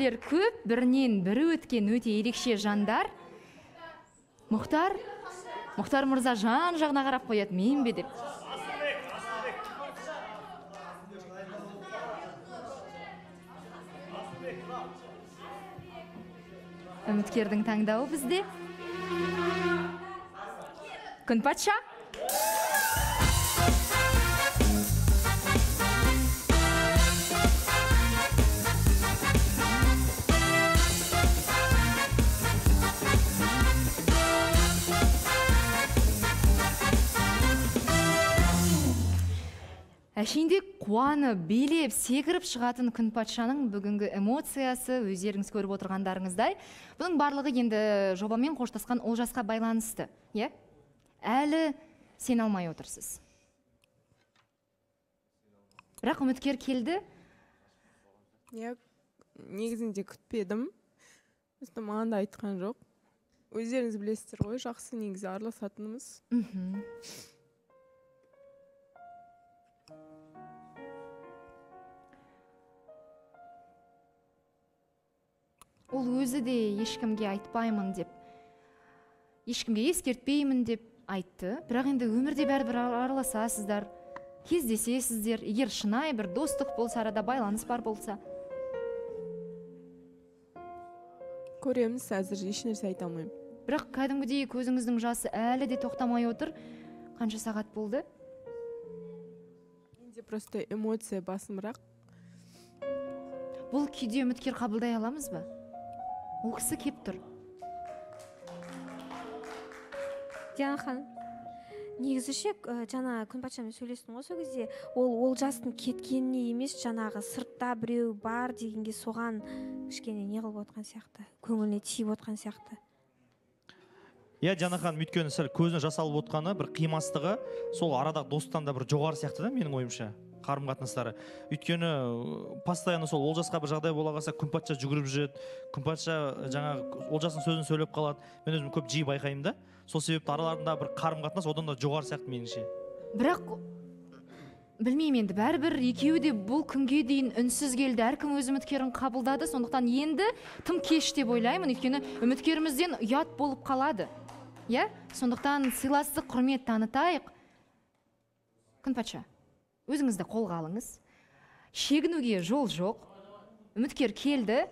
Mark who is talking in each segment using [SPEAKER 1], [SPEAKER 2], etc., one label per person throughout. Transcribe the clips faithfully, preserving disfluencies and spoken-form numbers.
[SPEAKER 1] үміткерлер көп, бірінен бірі өткен өте ерекше жандар. Мұхтар, Мұхтар мырза жан жағына қарап қояды, мен бе деп. Үміткердің таңдауы бізде. Күнпатша. Әшейінде қуаны, белеп, секіріп шығатын Күнпатшаның бүгінгі эмоциясы өздеріңіз көріп отырғандарыңыздай. Бұның барлығы енді жобамен қоштасқан Олжасқа байланысты. Әлі сен алмай отырсыз. Бірақ үміткер келді?
[SPEAKER 2] Негізінде күтпедім. Үсті маған да айтқан жоқ. Өздеріңіз білесіздер ғой, жақсы негізі араласатынымыз.
[SPEAKER 1] Ол өзі де ешкімге айтпаймын деп, ешкімге ескертпеймін деп айтты. Бірақ енді өмірде бәрібір араласасыздар, кездесесіздер. Егер шынайы бір достық болса, арада байланыс бар болса.
[SPEAKER 2] Көреміз, әзір ешнәрсе айта алмаймын.
[SPEAKER 1] Бірақ кәдімгідей көзіңіздің жасы әлі де тоқтамай отыр. Қанша сағат болды?
[SPEAKER 2] Менде просто эмоция басымырақ.
[SPEAKER 1] Бұл күйде үміткер қабылдай аламыз ба? Ол кісі кеп тұр.
[SPEAKER 3] Диана ханым, негізіше жаңа Күнпатшамен сөйлестім ғой сол кезде, ол Олжастың кеткеніне емес, жаңағы сыртта біреу бар дегенге соған кішкене не қылып отқан сияқты, көңіліне тиіп отқан сияқты.
[SPEAKER 4] Иә, Диана ханым, өйткені сәл көзіне жас алып отқаны бір қимастығы, сол арадағы достан да бір жоғары сияқты да, менің ойымша. Қарым қатынастары. Өйткені постоянно сол Олжасқа бір жағдай бола қалса, Күнпатша жүгіріп жүреді. Күнпатша жаңа Олжастың сөзін сөйлеп қалады. Мен өзім көп жиі байқаймын да. Сол себепті араларында бір қарым қатынас одан да жоғары сияқты меніңше.
[SPEAKER 1] Бірақ білмеймін енді, бәрібір екеуі де бұл күнге дейін үнсіз келді. Әркім өз үміткерін қабылдады. Сондықтан енді тым кеш деп ойлаймын. Өйткені үміткерімізден ұят болып қалады. Иә? Сондықтан сыйластық, құрмет танытайық. Күнпатша, өзіңізді қолға алыңыз. Шегінуге жол жоқ. Үміткер келді.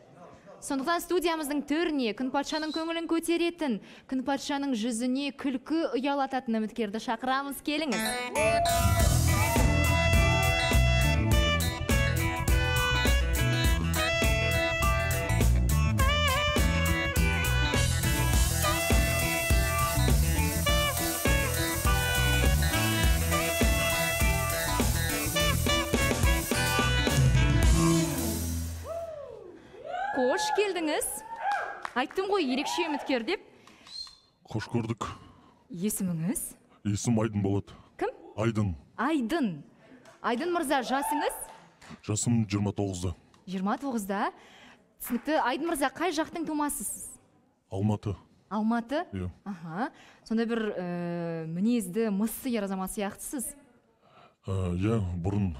[SPEAKER 1] Сондықтан студиямыздың төріне Күнпатшаның көңілін көтеретін, Күнпатшаның жүзіне күлкі ұялататын үміткерді шақырамыз, келіңіз. Қош келдіңіз. Айттым ғой, ерекше үміткер деп.
[SPEAKER 5] Қош көрдік.
[SPEAKER 1] Есіміңіз?
[SPEAKER 5] Есім Айдын болады.
[SPEAKER 1] Кім?
[SPEAKER 5] Айдын.
[SPEAKER 1] Айдын. Айдын мырза, жасыңыз?
[SPEAKER 5] Жасым жиырма тоғызда.
[SPEAKER 1] жиырма тоғызда. Түсінікті. Айдын мырза, қай жақтың тумасысыз?
[SPEAKER 5] Алматы.
[SPEAKER 1] Алматы?
[SPEAKER 5] Иә.
[SPEAKER 1] Аха. Сонда бір мінезді, мыссы ер азамат сияқтысыз?
[SPEAKER 5] Иә, бұрын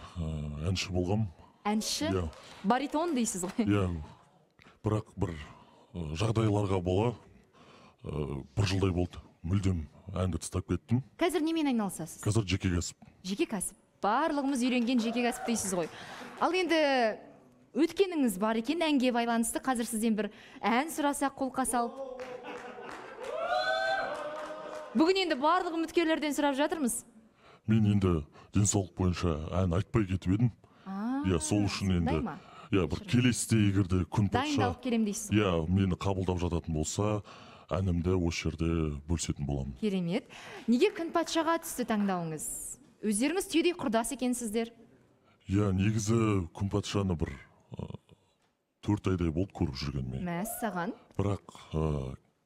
[SPEAKER 5] әнші болғам.
[SPEAKER 1] Әнші? Баритон дейсіз ғой?
[SPEAKER 5] Иә. Бірақ бір жағдайларға бола, бір жылдай болды. Мүлдем әнді тастап кеттім.
[SPEAKER 1] Қазір немен айналысасыз?
[SPEAKER 5] Қазір жеке кәсіп.
[SPEAKER 1] Жеке кәсіп. Барлығымыз үйренген жеке кәсіп дейсіз ғой. Ал енді өткеніңіз бар екен, әнге байланысты. Қазір сізден бір ән сұрасақ, қолқа салып. Бүгін енді барлық үміткерлерден сұрап жатырмыз.
[SPEAKER 5] Мен енді денсаулық бойынша ән айтпай кетіп едім. Иә, сол үшін енді иә, бір келесіде егерде Күнпатша
[SPEAKER 1] дайындалып келем дейсіз.
[SPEAKER 5] Иә, мені қабылдап жататын болса, әнімді осы жерде бөлісетін боламын.
[SPEAKER 1] Керемет. Неге Күнпатшаға түсті таңдауыңыз? Өздеріңіз түйдей құрдас екенсіздер.
[SPEAKER 5] Иә, негізі Күнпатшаны бір төрт айдай болды көріп жүргенмен.
[SPEAKER 1] Мәссаған.
[SPEAKER 5] Бірақ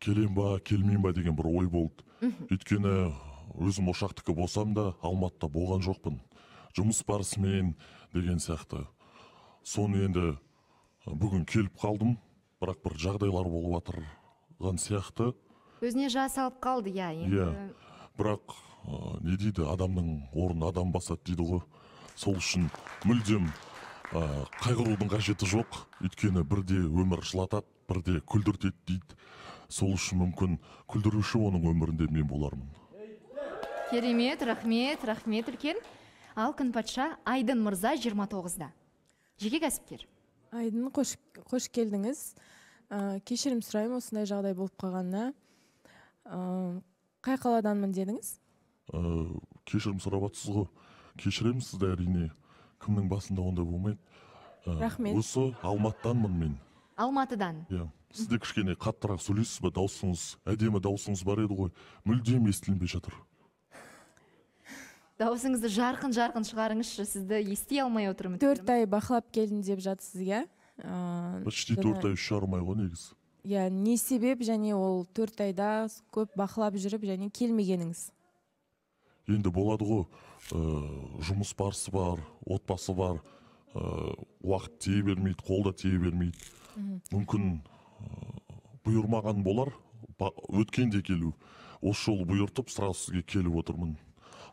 [SPEAKER 5] келем ба, келмейм ба деген бір ой болды. Өйткені өзім Ошақтікі болсам да, Алматыда болған жоқпын. Жұмыс барысымен деген сияқты. Соны енді бүгін келіп қалдым, бірақ бір жағдайлар болып жатырған сияқты.
[SPEAKER 1] Өзіне жас алып қалды, иә.
[SPEAKER 5] Иә, бірақ не дейді, адамның орны адам басады дейді ғой. Сол үшін мүлдем ә, қайғырудың қажеті жоқ, өйткені бірде өмір жылатады, бірде күлдіртеді дейді. Сол үшін мүмкін күлдіруші оның өмірінде мен болармын.
[SPEAKER 1] Керемет, рахмет, рахмет үлкен. Ал Күнпатша Айдын мырза жиырма тоғызда. Жеке кәсіпкер.
[SPEAKER 2] Айдын, қош, қош келдіңіз. Ә, кешірім сұраймын осындай жағдай болып қалғанына. Ә, қай қаладанмын дедіңіз?
[SPEAKER 5] Ә, кешірім сұрап жатсыз ғой. Кешіремін сізді әрине. Кімнің басында ондай болмайды. Ә,
[SPEAKER 2] Рахмет.
[SPEAKER 5] Осы Алматыданмын мен.
[SPEAKER 1] Алматыдан.
[SPEAKER 5] Иә. Сіз де кішкене қаттырақ сөйлейсіз бе? Даусыңыз, әдемі даусыңыз бар еді ғой. Мүлдем естілінбей жатыр.
[SPEAKER 1] Дауысыңызды жарқын-жарқын шығарыңызшы, сізді ести алмай отырмын.
[SPEAKER 2] Төрт ай бақылап келдім деп жатсыз, иә? Ә,
[SPEAKER 5] Почти
[SPEAKER 2] жаңа-
[SPEAKER 5] төрт ай үш жарым ай ғой негізі.
[SPEAKER 2] Иә, не себеп және ол төрт айда көп бақылап жүріп және келмегеніңіз?
[SPEAKER 5] Енді болады ғой, ә, жұмыс барысы бар, отбасы бар, ә, уақыт тие бермейді, қолда тие бермейді. Мүмкін ә, бұйырмаған болар, ба- өткенде келу. Осы жолы бұйыртып, сразу сізге келіп отырмын.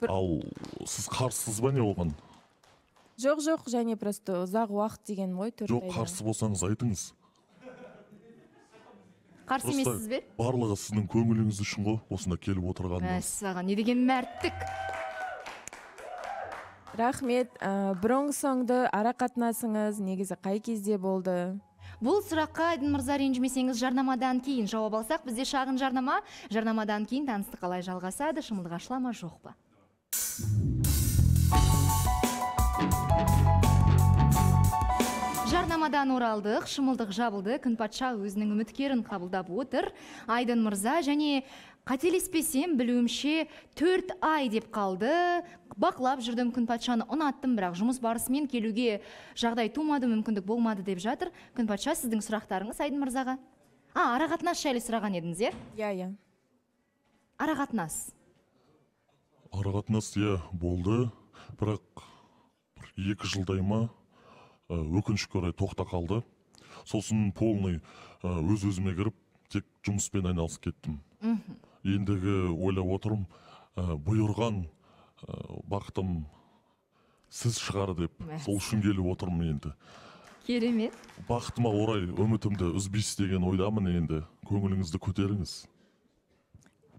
[SPEAKER 5] Ал сіз қарсысыз ба не оған?
[SPEAKER 2] Жоқ, жоқ, және просто ұзақ уақыт деген ғой, төрт
[SPEAKER 5] Жоқ,
[SPEAKER 2] айда.
[SPEAKER 5] қарсы болсаңыз айтыңыз.
[SPEAKER 1] Қарсы емессіз бе?
[SPEAKER 5] Барлығы сіздің көңіліңіз үшін ғой, осында келіп отырғанымыз.
[SPEAKER 1] Мәссаған, не деген мәрттік.
[SPEAKER 2] Рахмет. Ә, бұрынғы соңды ара қатынасыңыз негізі қай кезде болды?
[SPEAKER 1] Бұл сұраққа Айдын мырза ренжімесеңіз жарнамадан кейін жауап алсақ, бізде шағын жарнама, жарнамадан кейін таныстық қалай жалғасады, шымылдық ашыла ма жоқ па? Жарнамадан оралдық, шымылдық жабылды, Күнпатша өзінің үміткерін қабылдап отыр. Айдын мырза және қателеспесем білуімше төрт ай деп қалды. Бақылап жүрдім, Күнпатшаны ұнаттым, бірақ жұмыс барысымен келуге жағдай тумады, мүмкіндік болмады деп жатыр. Күнпатша, сіздің сұрақтарыңыз Айдын мырзаға? А, арақатынас жайлы сұраған едіңіз, е?
[SPEAKER 2] Иә, иә.
[SPEAKER 1] Арақатынас.
[SPEAKER 5] Арақатынас иә болды, бірақ бір екі жылдай ма ә, өкінішке орай тоқта қалды. Сосын полный ә, өз-өзіме кіріп, тек жұмыспен айналысып кеттім. Ендігі ойлап отырмын, ә, бұйырған ә, бақытым сіз шығар деп, сол үшін келіп отырмын енді.
[SPEAKER 1] Керемет.
[SPEAKER 5] Бақытыма орай үмітімді үзбейсіз деген ойдамын енді. Көңіліңізді көтеріңіз.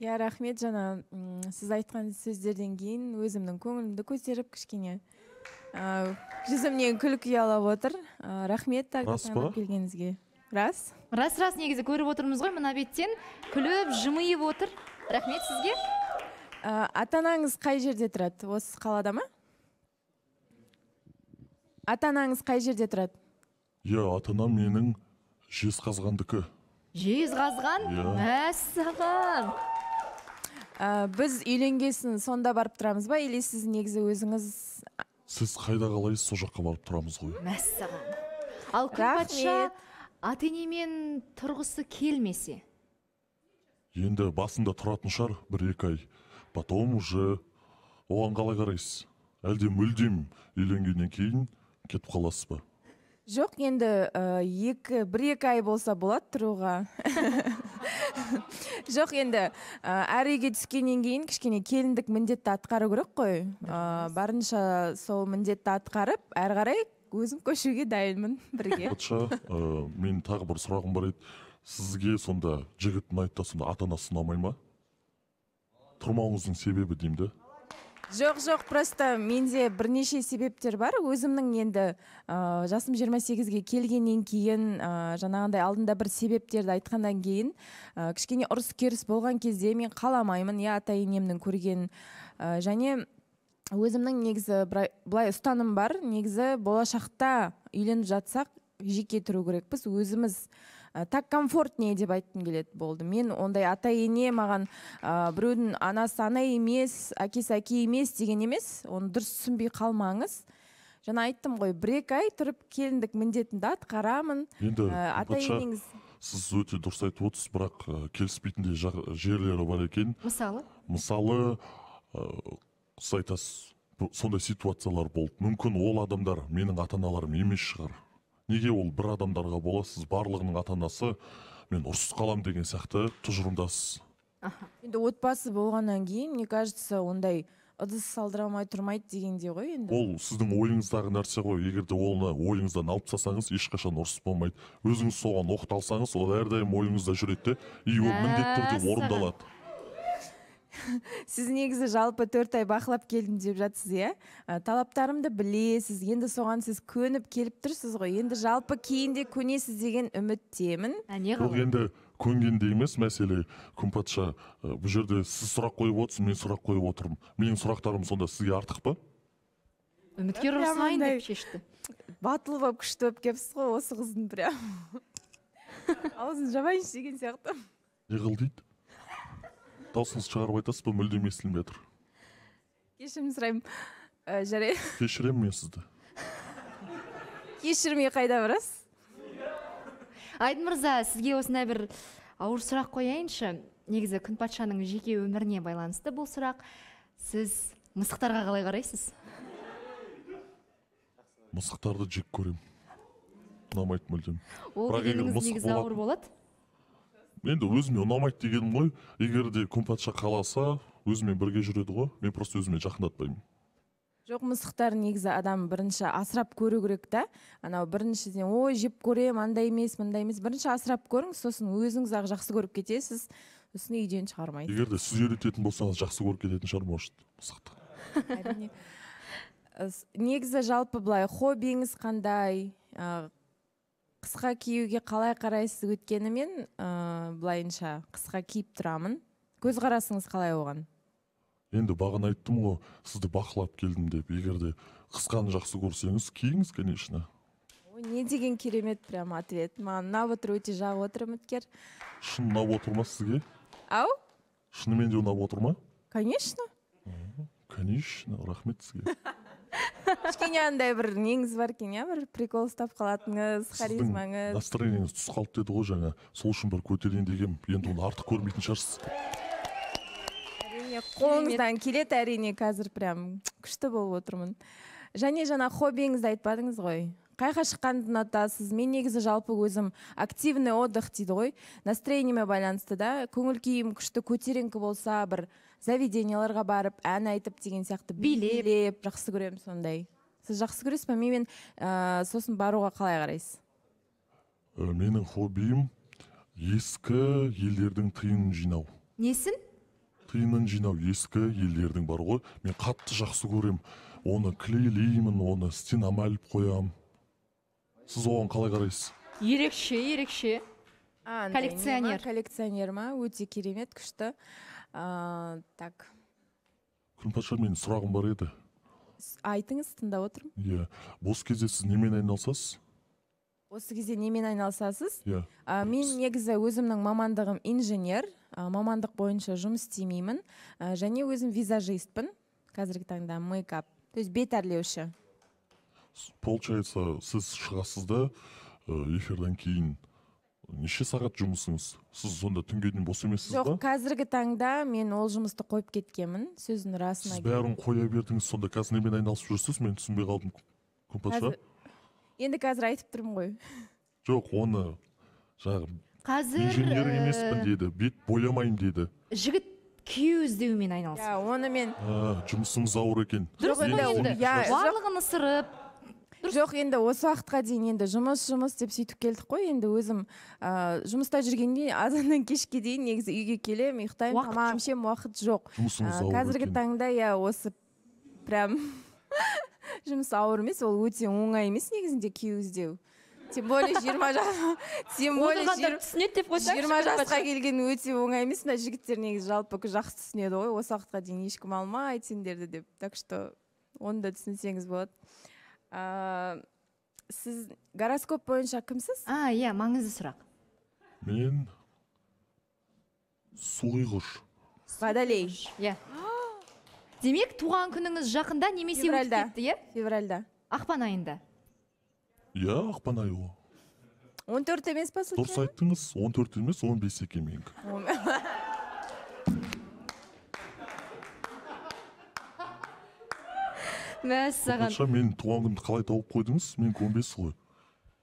[SPEAKER 2] Иә, рахмет. Жаңа м, сіз айтқан сөздерден кейін өзімнің көңілімді көтеріп кішкене ә, жүзімнен күлкі ұялап отыр. Ә, рахмет
[SPEAKER 5] Рас па?
[SPEAKER 2] келгеніңізге. Рас?
[SPEAKER 1] Рас, рас, негізі көріп отырмыз ғой, мына беттен күліп, жымиып отыр. Рахмет сізге.
[SPEAKER 2] Ә, ата-анаңыз қай жерде тұрады? Осы қалада ма? Ата-анаңыз қай жерде тұрады?
[SPEAKER 5] Иә, ата-анам менің Жезқазғандікі.
[SPEAKER 1] Жезқазған?
[SPEAKER 5] Иә.
[SPEAKER 1] Мәссаған.
[SPEAKER 2] Ә, біз үйленгесін сонда барып тұрамыз ба, или сіз негізі өзіңіз?
[SPEAKER 5] Сіз қайда қалайсыз, сол жаққа барып тұрамыз ғой.
[SPEAKER 1] Мәссаған. Ал Күнпатша ата-енемен тұрғысы келмесе?
[SPEAKER 5] Енді басында тұратын шығар бір-екі ай. Потом уже оған қалай қарайсыз? Әлде мүлдем үйленгеннен кейін кетіп қаласыз ба?
[SPEAKER 2] Жоқ, енді ә, екі, бір-екі ай болса болады тұруға. Жоқ, енді ә, әр үйге түскеннен кейін кішкене келіндік міндетті атқару керек қой. Ә, барынша сол міндетті атқарып, әрі қарай өзім көшуге дайынмын бірге.
[SPEAKER 5] Патша, ә, мен тағы бір сұрағым бар еді. Сізге сонда жігіт ұнайды, сонда ата-анасы ұнамай ма? Тұрмауыңыздың себебі деймін де.
[SPEAKER 2] Жоқ, жоқ, просто менде бірнеше себептер бар. Өзімнің енді ә, жасым жиырма сегізге келгеннен кейін, ә, жаңағындай алдында бір себептерді айтқаннан кейін, ә, кішкене ұрыс-керіс болған кезде мен қаламаймын, я ата-енемнің көрген. Ә, және өзімнің негізі былай- былай ұстаным бар. Негізі болашақта үйленіп жатсақ, жеке тұру керекпіз, өзіміз ә, так комфортнее деп айтқым келеді болды. Мен ондай ата-ене маған ә, біреудің анасы ана емес, әкесі әке емес деген емес. Оны дұрыс түсінбей қалмаңыз. Жаңа айттым ғой, бір-екі ай тұрып келіндік міндетімді атқарамын.
[SPEAKER 5] Енді
[SPEAKER 2] Ә,
[SPEAKER 5] патша,
[SPEAKER 2] ата-енеңіз
[SPEAKER 5] сіз өте дұрыс айтып отырсыз, бірақ ә, келіспейтіндей жақ- жерлері бар екен.
[SPEAKER 1] Мысалы?
[SPEAKER 5] Мысалы, ә, сіз айтасыз, бұл- сондай ситуациялар болды. Мүмкін ол адамдар менің ата-аналарым емес шығар. Неге ол бір адамдарға боласыз, барлығының ата-анасы мен ұрсыз қалам деген сияқты тұжырымдасыз.
[SPEAKER 2] енді отбасы болғаннан кейін, мне кажется, ондай ыдыс салдыра алмай тұрмайды дегендей ғой енді.
[SPEAKER 5] Ол сіздің ойыңыздағы нәрсе ғой. Егер де оны ойыңыздан алып тастасаңыз, ешқашан ұрыс болмайды. Өзіңіз соған оқталсаңыз, ол әрдайым ойыңызда жүреді, и ол міндетті түрде орындалады.
[SPEAKER 2] Сіз негізі жалпы төрт ай бақылап келдім деп жатсыз, иә? Талаптарымды білесіз, енді соған сіз көніп келіп тұрсыз ғой. Енді жалпы кейінде көнесіз деген үміттемін.
[SPEAKER 5] Ол енді көнгенде емес мәселе. Күнпатша, бұл жерде сіз сұрақ қойып отырсыз, мен сұрақ қойып отырмын. Менің сұрақтарым сонда сізге артық па?
[SPEAKER 1] Үміткер ұрсайын деп шешті.
[SPEAKER 2] Батыл болып күшті болып келіпсіз ғой осы қыздың прям. Аузын жабайыншы деген сияқты.
[SPEAKER 5] Не қыл дейді? Даусыңыз шығарып айтасыз ба, мүлдем естілмей жатыр.
[SPEAKER 2] Кешірім сұраймын. Жарай.
[SPEAKER 5] Кешіремін мен сізді.
[SPEAKER 2] Кешірмей қайда барасыз?
[SPEAKER 1] Айдын мырза, сізге осындай бір ауыр сұрақ қояйыншы. Негізі Күнпатшаның жеке өміріне байланысты бұл сұрақ. Сіз мысықтарға қалай қарайсыз?
[SPEAKER 5] Мысықтарды жек көремін. Ұнамайды мүлдем.
[SPEAKER 1] Ол дегеніңіз негізі ауыр болады?
[SPEAKER 5] Енді өзіме ұнамайды дегенім ғой. Егер де Күнпатша қаласа, өзімен бірге жүреді ғой. Мен просто өзіме жақындатпаймын.
[SPEAKER 2] Жоқ, мысықтар негізі адам бірінші асырап көру керек та. Анау біріншіден, ой, жеп көрем, андай емес, мындай емес. Бірінші асырап көріңіз, сосын өзіңіз ақ жақсы көріп кетесіз, сосын үйден шығармайды.
[SPEAKER 5] Егер де сіз үйрететін болсаңыз, жақсы көріп кететін шығар, может, мысықты.
[SPEAKER 2] Әрине. Негізі жалпы былай, хоббиіңіз қандай? Қысқа киюге қалай қарайсыз? Өткені мен былайынша қысқа киіп тұрамын. Көз қарасыңыз қалай оған?
[SPEAKER 5] Енді бағана айттым ғой, сізді бақылап келдім деп. Егер де қысқаны жақсы көрсеңіз, киіңіз, конечно.
[SPEAKER 2] Ой, не деген керемет прям ответ. Маған ұнап отыр, өте жағып отыр үміткер.
[SPEAKER 5] Шын ұнап отыр ма сізге?
[SPEAKER 2] Ау?
[SPEAKER 5] Шынымен де ұнап отыр ма?
[SPEAKER 2] Конечно.
[SPEAKER 5] Конечно, рахмет сізге.
[SPEAKER 2] Кішкене андай бір неңіз бар екен, иә, бір прикол ұстап қалатыңыз, харизмаңыз.
[SPEAKER 5] Сіздің настроениеңіз түс қалып деді ғой жаңа. Сол үшін бір көтерейін дегем, енді оны артық көрмейтін шығарсыз.
[SPEAKER 2] Әрине, қолыңыздан келеді, әрине, қазір прям күшті болып отырмын. Және жаңа хоббиіңізді айтпадыңыз ғой. Қайға шыққанды ұнатасыз? Мен негізі жалпы өзім активный отдых дейді ғой. Настроениеме байланысты да, көңіл күйім күшті көтеріңкі болса, бір заведенияларға барып, ән айтып деген сияқты билеп, жақсы көремін сондай. Сіз жақсы көресіз бе? Мен сосын баруға қалай қарайсыз?
[SPEAKER 5] Менің хоббиім ескі елдердің тиынын жинау.
[SPEAKER 1] Несін?
[SPEAKER 5] Тиынын жинау, ескі елдердің бар ғой. Мен қатты жақсы көрем. Оны клейлеймін, оны стенама іліп қоям. Сіз оған қалай қарайсыз?
[SPEAKER 1] Ерекше, ерекше. Коллекционер.
[SPEAKER 2] Коллекционер ма? Өте керемет, күшті. Так.
[SPEAKER 5] Күнпатша, менің сұрағым бар еді.
[SPEAKER 2] Айтыңыз, тыңдап отырмын.
[SPEAKER 5] Иә. Бос кезде сіз немен айналысасыз?
[SPEAKER 2] Осы кезде немен айналысасыз?
[SPEAKER 5] Иә.
[SPEAKER 2] Мен негізі өзімнің мамандығым инженер, мамандық бойынша жұмыс істемеймін, және өзім визажистпін. Қазіргі таңда мейкап, то есть бет әрлеуші.
[SPEAKER 5] Получается, сіз шығасыз да эфирден кейін неше сағат жұмысыңыз? Сіз сонда түнге дейін бос емессіз ба?
[SPEAKER 2] Жоқ, қазіргі таңда мен ол жұмысты қойып кеткенмін, сөздің расына.
[SPEAKER 5] Сіз бәрін қоя бердіңіз, сонда қазір немен айналысып жүрсіз? Мен түсінбей қалдым, Күнпатша.
[SPEAKER 2] Енді қазір айтып тұрмын ғой.
[SPEAKER 5] Жоқ, оны жағы инженер емеспін деді, бет боямайым деді.
[SPEAKER 1] Жігіт күйеу іздеумен айналысып.
[SPEAKER 2] Ja, оны мен
[SPEAKER 5] жұмысыңыз ауыр екен.
[SPEAKER 1] Дұрыс енді. Барлығын ысырып.
[SPEAKER 2] Жоқ, енді осы уақытқа дейін енді жұмыс жұмыс деп сөйтіп келдік қой. Енді өзім жұмыста жүргенде азаннан кешке дейін негізі үйге келемін, ұйықтаймын, тамағым ішемін, уақыт жоқ. Қазіргі таңда я осы прям жұмыс ауыр емес, ол өте оңай емес негізінде күйеу іздеу. Тем более жиырма жасқа келген өте оңай емес. Мына жігіттер негізі жалпы жақсы түсінеді ғой. Осы уақытқа дейін ешкім алмайды сендерді деп. Так что оны да түсінсеңіз болады. Сіз гороскоп бойынша кімсіз?
[SPEAKER 1] А, иә, маңызды сұрақ.
[SPEAKER 5] Мен суғиғыш.
[SPEAKER 2] Водолей.
[SPEAKER 1] Иә. Демек, туған күніңіз жақында немесе өтіп кетті, иә?
[SPEAKER 2] Февральда.
[SPEAKER 1] Ақпан айында.
[SPEAKER 5] Иә, ақпан айы ғой.
[SPEAKER 2] он төрт емес па?
[SPEAKER 5] Дұрыс айттыңыз, он төрт емес, он бес екен менікі.
[SPEAKER 1] Мәссаған.
[SPEAKER 5] Мен туған күнді қалай тауып қойдыңыз? Мен он бес ғой.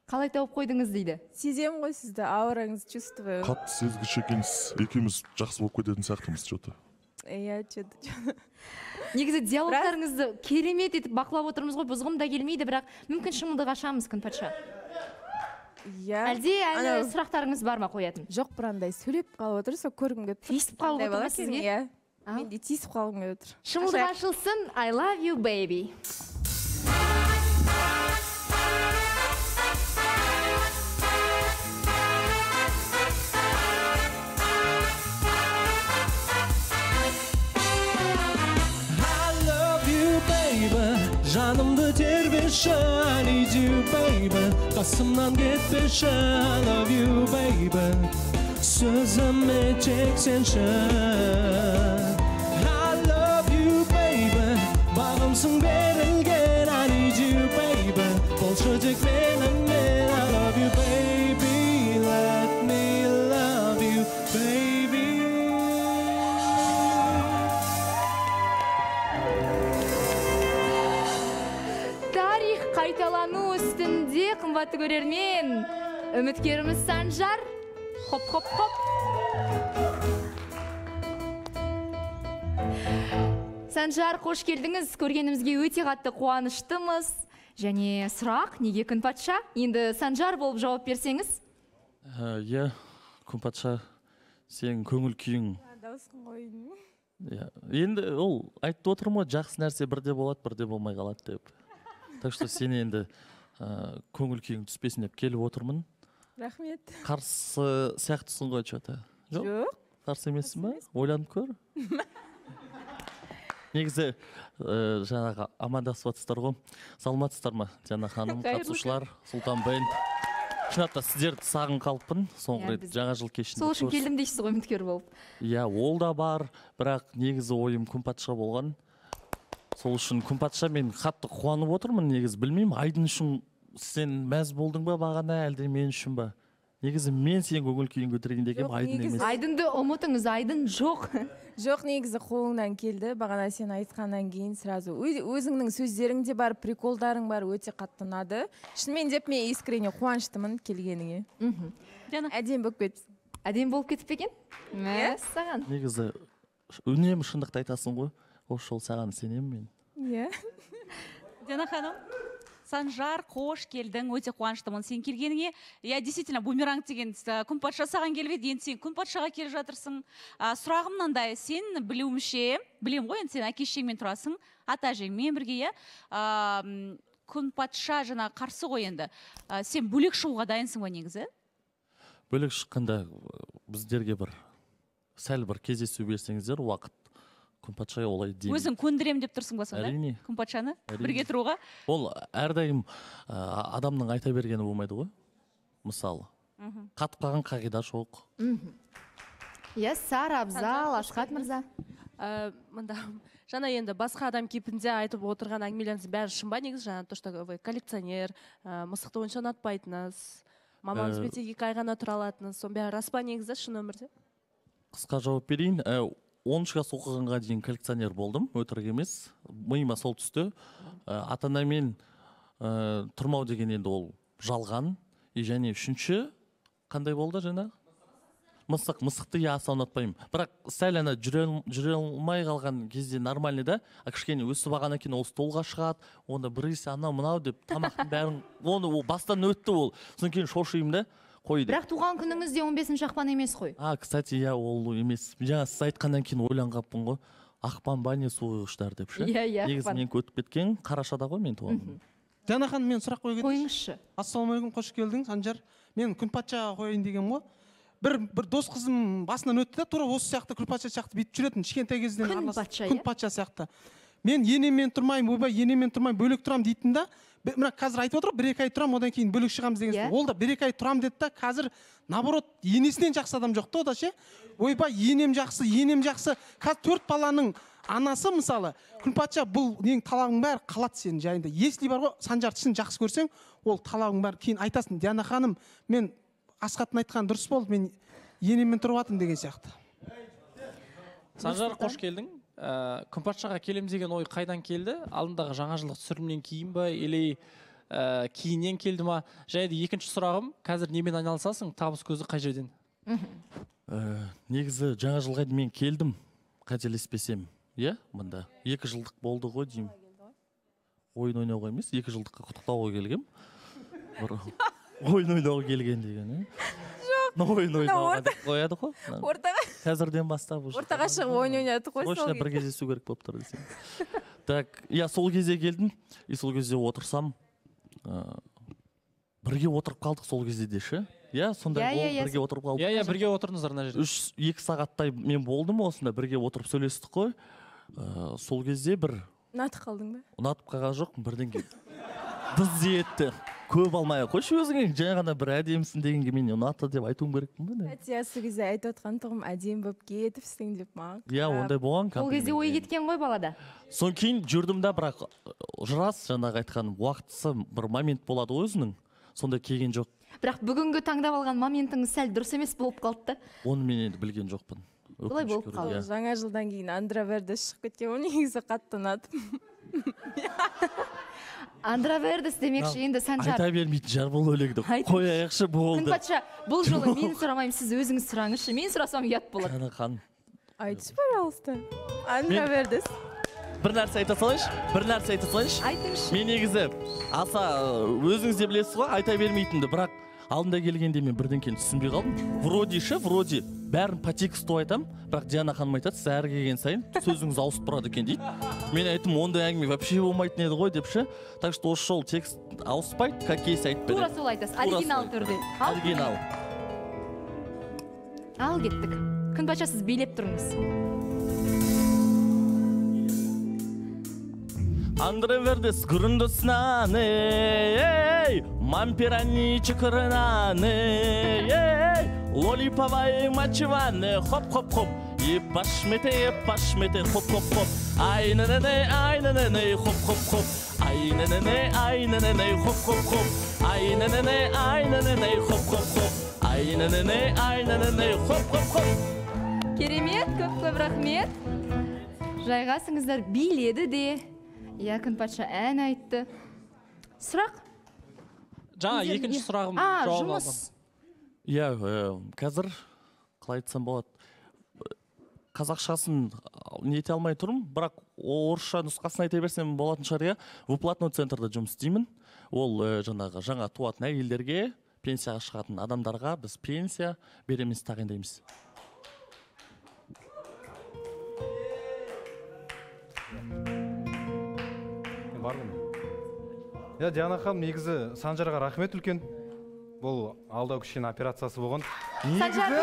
[SPEAKER 1] Қалай тауып қойдыңыз дейді?
[SPEAKER 2] Сезем ғой сізді, аураңыз чувствую.
[SPEAKER 5] Қатты сезгіш екенсіз, екеуміз жақсы болып кететін сияқтымыз, что-то.
[SPEAKER 2] Иә, что-то.
[SPEAKER 1] негізі диалогтарыңызды керемет етіп бақылап отырмыз ғой, бұзғым да келмейді, бірақ мүмкін шымылдық ашамыз күн патша.
[SPEAKER 2] Иә.
[SPEAKER 1] Әлде әлі сұрақтарыңыз бар ма қоятын?
[SPEAKER 2] Жоқ, бір андай сөйлеп қалып отыр, сол көргім келіп тұр.
[SPEAKER 1] Тиісіп қалып отыр ма сізге?
[SPEAKER 2] Иә. Мен де тиісіп қалғым келіп отыр.
[SPEAKER 1] Шымылдық ашылсын, I love you baby.
[SPEAKER 6] Жанымды тербеші, I need you baby. Қасымнан кетпеші, I love you baby. Сөзіме чексенші, I love you baby. Бағымсың берілген, I need you baby. Болшы тек менімен, I love you baby. Let me love you baby.
[SPEAKER 1] Қайталану үстінде қымбатты көрермен, үміткеріміз Санжар. Хоп, хоп, хоп. Санжар, қош келдіңіз. Көргенімізге өте қатты қуаныштымыз. Және сұрақ, неге күн патша? Енді Санжар болып жауап берсеңіз?
[SPEAKER 7] Иә, күн патша, сен көңіл күйің.
[SPEAKER 2] Дауысың қойдың.
[SPEAKER 7] Енді ол айтты отырмын, жақсы нәрсе бірде болады, бірде болмай қалады деп. Так что сен енді көңіл күйің түспесін деп келіп отырмын.
[SPEAKER 2] Рахмет.
[SPEAKER 7] Қарсы сияқтысың ғой что-то.
[SPEAKER 2] Жоқ.
[SPEAKER 7] Қарсы емессің ба? Ойланып көр. Негізі жаңағы амандасып жатсыздар ғой. Саламатсыздар ма? Жаңа ханым, қатысушылар, Сұлтан бенд. Шынында сіздерді сағын қалыппын. Соңғы рет жаңа жыл кешінде.
[SPEAKER 1] Сол үшін келдім дейсіз ғой үміткер болып.
[SPEAKER 7] Иә, ол да бар, бірақ негізі ойым күн патша болған. Сол үшін күн патша мен қатты қуанып отырмын, негізі білмеймін, Айдын үшін сен мәз болдың ба бағана, әлде мен үшін ба? Негізі мен сен көңіл күйін көтерген дегенім Айдын емес.
[SPEAKER 1] Айдынды ұмытыңыз, Айдын жоқ.
[SPEAKER 2] Жоқ, негізі қолыңнан келді. Бағана сен айтқаннан кейін сразу өзіңнің сөздерің де бар, приколдарың бар, өте қатты ұнады. Шынымен деп мен искренне қуаныштымын келгеніңе. Әдем болып кетіпсің.
[SPEAKER 1] Әдем болып кетіп пе екен? Мәссаған.
[SPEAKER 7] Негізі үнемі шындықты айтасың ғой. Ошол саған сенемін мен.
[SPEAKER 2] Иә.
[SPEAKER 8] Дана ханым, Санжар, қош келдің, өте қуаныштымын сен келгеніңе. Я действительно бумеранг деген күн патша саған келбеді, енді сен күн патшаға келіп жатырсың. Сұрағым мынандай, сен білуімше, білем ғой, енді сен әке-шешеңмен тұрасың, ата-әжеңмен бірге, күн патша жаңа қарсы ғой енді. Сен бөлек шығуға дайынсың ба негізі?
[SPEAKER 7] Бөлек шыққанда біздерге бір сәл бір кездесу берсеңіздер, уақыт күн патша олай деймін.
[SPEAKER 8] Өзің көндірем деп тұрсың ба сонда?
[SPEAKER 7] Әрине.
[SPEAKER 8] Күн патшаны бірге тұруға?
[SPEAKER 7] Ол әрдайым адамның айта бергені болмайды ғой. Мысалы. Қатып қалған қағида жоқ.
[SPEAKER 1] Иә, Сара, Абзал, Ашқат мырза.
[SPEAKER 9] Мында жаңа енді басқа адам кейпінде айтып отырған әңгімелеріңіз бәрі шын ба негізі? Жаңа то, что вы коллекционер, мысықты онша ұнатпайтыныз, мамаңызбен тек екі ай ғана тұра алатыныз, соның бәрі рас па негізі шын өмірде?
[SPEAKER 7] Қысқа жауап берейін. оныншы класс оқығанға дейін коллекционер болдым, өтірік емес. Миыма сол түсті. Ата-анамен тұрмау деген енді ол жалған. Және үшінші қандай болды жаңа? Мысық, мысықты я аса ұнатпаймын. Бірақ сәл ана жүре алмай қалған кезде нормальный да, кішкене өсіп алғаннан кейін ол столға шығады, онда бір есе анау мынау деп тамақтың бәрін, оны бастан өтті ол. Содан кейін шошимын да.
[SPEAKER 1] Бірақ туған күніңіз де он бесінші ақпан емес қой.
[SPEAKER 7] А, кстати, я ол емес. Жаңа сіз айтқаннан кейін ойланғаппын ғой. Ақпан ба не суығыштар деп ше.
[SPEAKER 1] Иә, иә,
[SPEAKER 7] негізі мен өтіп кеткен қарашада ғой мен туған күнім.
[SPEAKER 6] Дана ханым, мен сұрақ қойып кетейінші.
[SPEAKER 1] Қойыңызшы.
[SPEAKER 6] Ассалаумағалейкум, қош келдің, Санжар. Мен күн патшаға қояйын деген ғой. Бір бір дос қызым басынан өтті да, тура осы сияқты күн патша сияқты бүйтіп жүретін, кішкентай кезден араласып. Күн патша сияқты. Мен енеммен тұрмаймын, ойбай, енеммен тұрмаймын, бөлек тұрамын дейтін да. Мына қазір айтып отыр, бір екі ай тұрамын, одан кейін бөлек шығамыз деген. Ол да бір екі ай тұрамын деді да, қазір наоборот енесінен жақсы адам жоқ та, о да ше. Ойбай, енем жақсы, енем жақсы. Қазір төрт баланың анасы мысалы, күн патша бұл нең талағың бәрі қалады сенің жайында. Если бар ғой, Санжарды шын жақсы көрсең, ол талағың бәрі кейін айтасың. Диана ханым, мен Асқаттың айтқан дұрыс болды, мен енеммен тұрып жатырмын деген сияқты.
[SPEAKER 10] Санжар, қош келдің. Күн патшаға келем деген ой қайдан келді? Алдындағы жаңа жылдық түсірілімнен кейін ба, или кейіннен келді ма? Және де екінші сұрағым, қазір немен айналысасың? Табыс көзі қай жерден?
[SPEAKER 7] Негізі жаңа жылға мен келдім, қателеспесем. иә мында екі жылдық болды ғой деймін. Ойын ойнауға емес, екі жылдыққа құттықтауға келгем. Бір ойын ойнауға келген деген. Жоқ. Ойын ойнауға деп қояды ғой.
[SPEAKER 2] Ортаға.
[SPEAKER 7] Қазірден бастап уже.
[SPEAKER 2] Ортаға шығып ойын ойнады ғой.
[SPEAKER 7] Срочно бір кездесу керек болып тұр десем. Так, я сол кезде келдім, и сол кезде отырсам, бірге отырып қалдық сол кезде де ше. Я сондай болып бірге отырып қалдық.
[SPEAKER 10] Я я бірге отырдыңыздар мына жерде.
[SPEAKER 7] үш екі сағаттай мен болдым осында, бірге отырып сөйлестік қой. Сол кезде бір
[SPEAKER 2] ұнатып қалдың ба?
[SPEAKER 7] Ұнатып қалған жоқпын, бірден кейін дыз етті. Көп алмай ақ қойшы өзіңе, жаңа ғана бір әдемісің дегенге мен ұнатты деп айтуым керекпін ба?
[SPEAKER 2] Әтия сол кезде айтып отқан тұғым әдемі болып кетіпсің деп маған.
[SPEAKER 7] Иә, ондай болған.
[SPEAKER 1] Ол кезде ой кеткен ғой балада.
[SPEAKER 7] Содан кейін жүрдім да, бірақ жырас жаңағы айтқаным уақытысы бір момент болады өзінің. Сонда келген жоқ.
[SPEAKER 1] Бірақ бүгінгі таңдап алған моментіңіз сәл дұрыс емес болып қалды.
[SPEAKER 7] Оны мен енді білген жоқпын.
[SPEAKER 1] Олай болып қалды.
[SPEAKER 2] Жаңа жылдан кейін Андравердес шығып кеткен, оны негізі қатты ұнатып.
[SPEAKER 1] Андравердес демекші енді Санжар.
[SPEAKER 7] Айта бермейтін жар бұл өлеңді. Қояйықшы болды.
[SPEAKER 1] Күнпатша, бұл жолы мен сұрамаймын, сіз өзіңіз сұраңызшы. Мен сұрасам ұят болады.
[SPEAKER 7] Жана хан.
[SPEAKER 2] Айтшы, пожалуйста. Андравердес.
[SPEAKER 7] Бір нәрсе айта салайыншы, бір нәрсе айта салайыншы.
[SPEAKER 1] Айтыңызшы.
[SPEAKER 7] Мен негізі аса өзіңіз де білесіз ғой, айта бермейтінді, бірақ алдында келгенде мен бірден кейін түсінбей қалдым. Вроде ше, вроде бәрін по тексту айтам, бірақ Диана ханым айтады, сіз әрі келген сайын сөзіңіз ауысып тұрады екен дейді. Мен айттым, ондай әңгіме вообще болмайтын еді ғой деп ше. Так что осы жол текст ауыспайды, как есть айтып беремін.
[SPEAKER 1] Тура сол айтасыз, оригинал түрде.
[SPEAKER 7] Оригинал.
[SPEAKER 1] Ал кеттік. Күнпатша, сіз билеп тұрыңыз.
[SPEAKER 7] Андравердес грундо снаны, ей, мампирани чекрнаны, ей, лолиповые мочеваны, хоп-хоп-хоп, и пашмете, пашмете, хоп-хоп-хоп, ай-на-на-на, ай-на-на-на, хоп-хоп-хоп, ай-на-на-на, ай-на-на-на, хоп-хоп-хоп, ай-на-на-на, ай-на-на-на, хоп-хоп-хоп, ай-на-на-на, ай-на-на-на, хоп-хоп-хоп.
[SPEAKER 1] Керемет, көп-көп рахмет. Жайғасыңыздар, биледі де. Я Күнпатша ән айтты. Сұрақ?
[SPEAKER 10] Жаңа екінші сұрағым
[SPEAKER 1] А,
[SPEAKER 10] жауап
[SPEAKER 1] жұмыс.
[SPEAKER 10] алдым.
[SPEAKER 7] Иә, қазір қалай айтсам болады. Қазақшасын нете алмай тұрмын, бірақ орысша нұсқасын айта берсем болатын шығар, иә. Выплатной центрда жұмыс істеймін. Ол жаңағы жаңа туатын әйелдерге, пенсияға шығатын адамдарға біз пенсия береміз, тағайындаймыз.
[SPEAKER 11] Я Диана ханым, негізі Санжарға рахмет үлкен. Бұл алдау кішкене операциясы болған.
[SPEAKER 1] Санжар.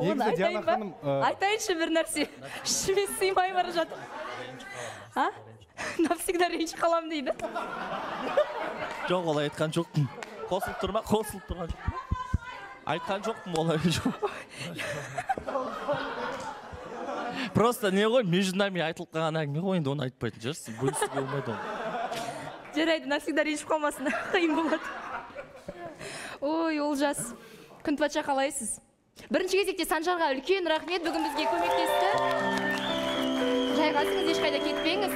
[SPEAKER 11] Негізі Диана ханым...
[SPEAKER 1] Айтайыншы бір нәрсе. Ішіме сыймай бара жатыр. А? Навсегда ренжіп қалам дейді.
[SPEAKER 7] Жоқ, олай айтқан жоқпын. Қосылып тұрма, қосылып тұрған жоқпын. Айтқан жоқпын, олай жоқ. Просто не ғой, между нами айтылып қалған әңгіме ғой, енді оны айтпайтын жүрсің. Бөлісуге болмайды оны.
[SPEAKER 1] Жарайды, навсегда ренжіп қалмасын, қиын болады. Ой, Олжас. Күнпатша, қалайсыз? Бірінші кезекте Санжарға үлкен рахмет, бүгін бізге көмектесті. Жайғасыңыз, ешқайда кетпеңіз.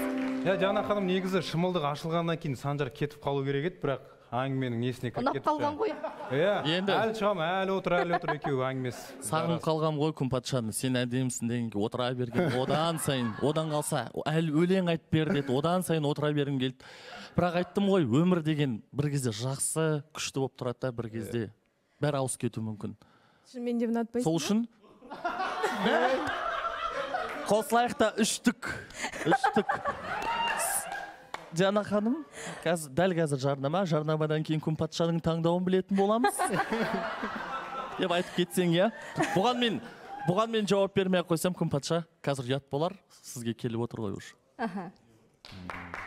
[SPEAKER 11] Я Диана ханым, негізі шымылдық ашылғаннан кейін Санжар кетіп қалу керек еді, бірақ әңгіменің несіне кіріп кетіп.
[SPEAKER 1] Ұнап қалған ғой.
[SPEAKER 11] Иә, әлі шығам, әлі отыр, әлі отыр екеуі әңгімесі.
[SPEAKER 7] Сағынып қалған ғой Күнпатшаны, сен әдемісің дегенге отыра берген. Одан сайын, одан қалса, әлі өлең айтып бер деді, одан сайын отыра бергім келді. Бірақ айттым ғой, өмір деген бір кезде жақсы, күшті болып тұрады да, бір кезде бәрі ауысып кетуі мүмкін.
[SPEAKER 2] Мен де ұнатпайсың.
[SPEAKER 7] Сол үшін қосылайық та үштік. Үштік. Диана ханым, дәл қазір жарнама, жарнамадан кейін Күнпатшаның таңдауын білетін боламыз. Деп айтып кетсең, иә. Бұған мен, бұған мен жауап бермей қойсам, Күнпатша қазір ұят болар, сізге келіп отыр ғой уже.
[SPEAKER 1] Аха.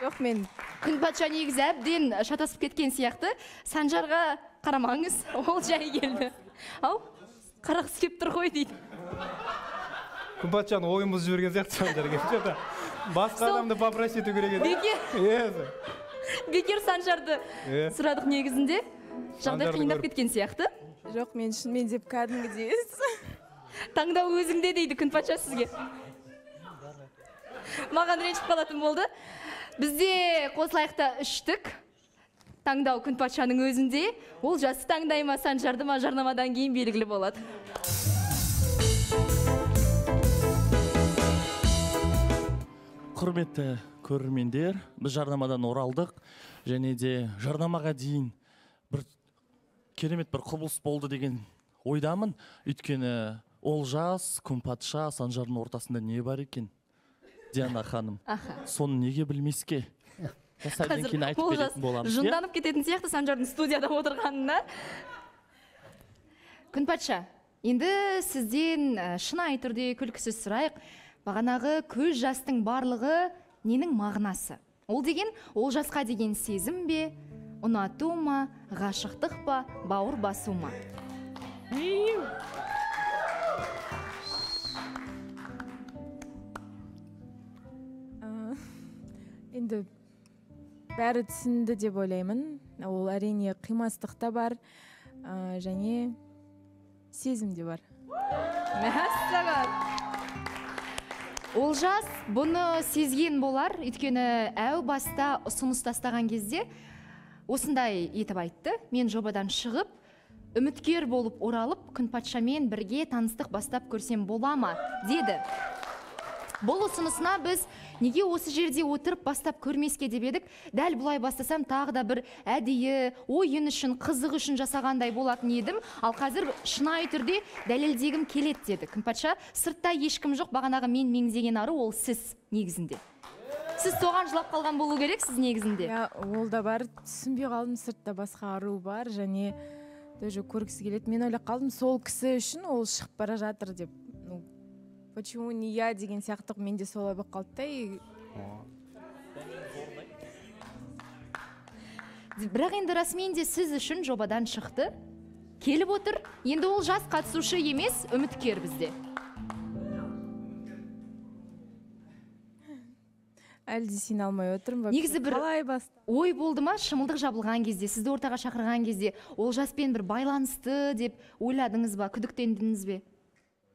[SPEAKER 2] Жоқ, мен
[SPEAKER 1] Күнпатша негізі әбден шатасып кеткен сияқты. Санжарға қарамаңыз, ол жай келді. Ау, қарақсы кеп тұр ғой дейді.
[SPEAKER 11] Күнпатшаны ойын бұзып жіберген сияқты Санжар келді. Басқа адамды попросить ету керек еді.
[SPEAKER 1] Бекер. Бекер Санжарды сұрадық негізінде. Жағдай қиындап кеткен сияқты.
[SPEAKER 2] Жоқ, мен шынымен деп кәдімгідей.
[SPEAKER 1] Таңдау өзіңде дейді Күнпатша сізге. Маған ренжіп қалатын болды. Бізде қосылайықта үштік. Таңдау Күнпатшаның өзінде. Ол жасы таңдай ма, Санжарды ма, жарнамадан кейін белгілі болады.
[SPEAKER 7] Құрметті көрермендер, біз жарнамадан оралдық. Және де жарнамаға дейін бір керемет бір құбылыс болды деген ойдамын. Өйткені Олжас, Күнпатша, Санжардың ортасында не бар екен? Диана ханым, соны неге білмеске?
[SPEAKER 1] Қазір Олжас жынданып кететін сияқты Санжардың студияда отырғанына. Күнпатша, енді сізден шынайы түрде күлкісіз сұрайық. Бағанағы көз жастың барлығы ненің мағынасы? Ол деген Олжасқа деген сезім бе, ұнату ма, ғашықтық па, бауыр басу ма?
[SPEAKER 2] Енді бәрі түсінді деп ойлаймын. Ол әрине қимастық та бар, және сезім де бар.
[SPEAKER 1] Мәссаған! Олжас бұны сезген болар, өйткені әу баста ұсыныс тастаған кезде осындай етіп айтты. Мен жобадан шығып, үміткер болып оралып, Күнпатшамен бірге таныстық бастап көрсем бола ма, деді. Бұл ұсынысына біз неге осы жерде отырып бастап көрмеске деп едік, дәл бұлай бастасам тағы да бір әдейі, ойын үшін, қызық үшін жасағандай болатын едім, ал қазір шынайы түрде дәлелдегім келеді деді. Күнпатша, сыртта ешкім жоқ, бағанағы мен меңзеген ару ол сіз негізінде. Сіз соған жылап қалған болу керек, сіз негізінде.
[SPEAKER 2] Ол да бар, түсінбей қалдым, сыртта басқа ару бар, және тоже көргісі келеді. Мен ойлап қалдым, сол кісі үшін ол шығып бара жатыр деп. Почему не я деген сияқты менде солай болып қалды.
[SPEAKER 1] Бірақ енді расымен де сіз үшін жобадан шықты. Келіп отыр. Енді ол жас қатысушы емес, үміткер бізде.
[SPEAKER 2] Әлде сен алмай отырмын.
[SPEAKER 1] Негізі бір ой болды ма, шымылдық жабылған кезде, сізді ортаға шақырған кезде, ол жаспен бір байланысты деп ойладыңыз ба, күдіктендіңіз бе?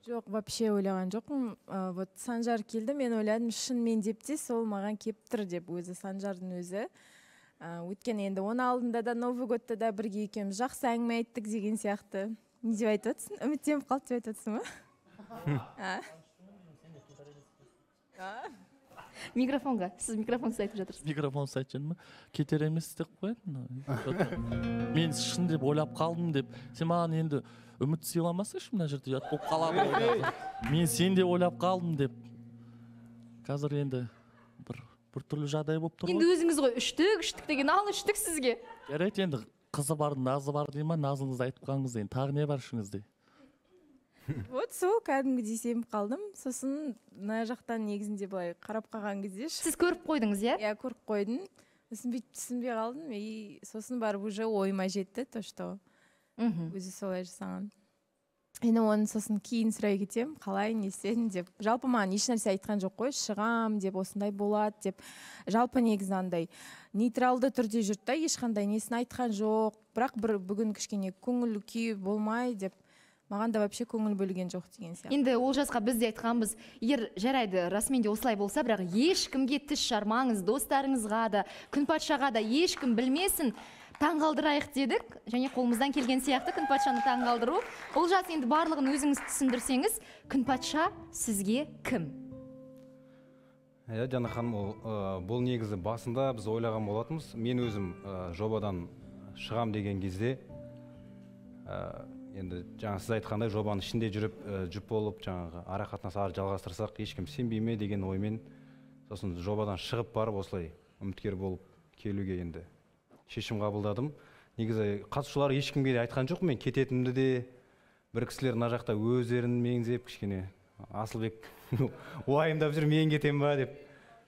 [SPEAKER 2] Жоқ, вообще ойлаған жоқпын. Вот Санжар келді, мен ойладым, шынымен деп те сол маған кеп тұр деп, өзі Санжардың өзі. Өйткені енді оны алдында да Новый годта да бірге екеуміз жақсы әңгіме айттық деген сияқты. Не деп айтып отырсың? Үміттеніп қалды деп айтып отырсың ба?
[SPEAKER 1] Микрофонға, сіз микрофонсыз айтып жатырсыз.
[SPEAKER 7] Микрофонсыз айтып жатырмын. Кетер емес деп қоятын. Мен шын деп ойлап қалдым деп. Сен маған енді үміт сыйламасайшы мына жерде ұят болып қалады. Мен сен де ойлап қалдым деп. Қазір енді бір бір түрлі жағдай болып тұр ғой.
[SPEAKER 1] Енді өзіңіз ғой үштік, үштік деген ал үштік сізге.
[SPEAKER 7] Жарайды, енді қызы бар, назы бар дей ма, назыңызды айтып қалыңыз енді. Тағы не бар ішіңізде?
[SPEAKER 2] Вот сол кәдімгідей сеніп қалдым. Сосын мына жақтан негізінде былай қарап қалған кезде.
[SPEAKER 1] Сіз көріп қойдыңыз, иә?
[SPEAKER 2] Иә, көріп қойдым. Сосын түсінбей қалдым. И сосын барып уже ойыма жетті, то что өзі солай жасаған. Енді оны сосын кейін сұрай кетем, қалай, не істедің деп. Жалпы маған ешнәрсе айтқан жоқ қой, шығам деп, осындай болады деп. Жалпы негізі андай нейтралды түрде жүрді, ешқандай несін айтқан жоқ. Бірақ бір бүгін кішкене көңіл күй болмай деп. Маған да вообще көңіл бөлген жоқ деген сияқты.
[SPEAKER 1] Енді Олжасқа біз де айтқанбыз, егер жарайды, расымен де осылай болса, бірақ ешкімге тіс жармаңыз, достарыңызға да, Күнпатшаға да ешкім білмесін, таңғалдырайық дедік, және қолымыздан келген сияқты Күнпатшаны таңғалдыру. Олжас, енді барлығын өзіңіз түсіндірсеңіз, Күнпатша сізге кім?
[SPEAKER 11] Иә, Жана ханым, бұл негізі басында біз ойлаған болатынбыз. Мен өзім жобадан шығам деген кезде, енді жаңа сіз айтқандай жобаның ішінде жүріп жүп болып жаңағы ара қатынас ары жалғастырсақ ешкім сенбей ме деген оймен сосын жобадан шығып барып осылай үміткер болып келуге енді шешім қабылдадым. Негізі қатысушылар ешкімге айтқан жоқ, мен кететімді де, бір кісілер мына жақта өздерін меңзеп кішкене Асылбек уайымдап жүр, мен кетем ба деп.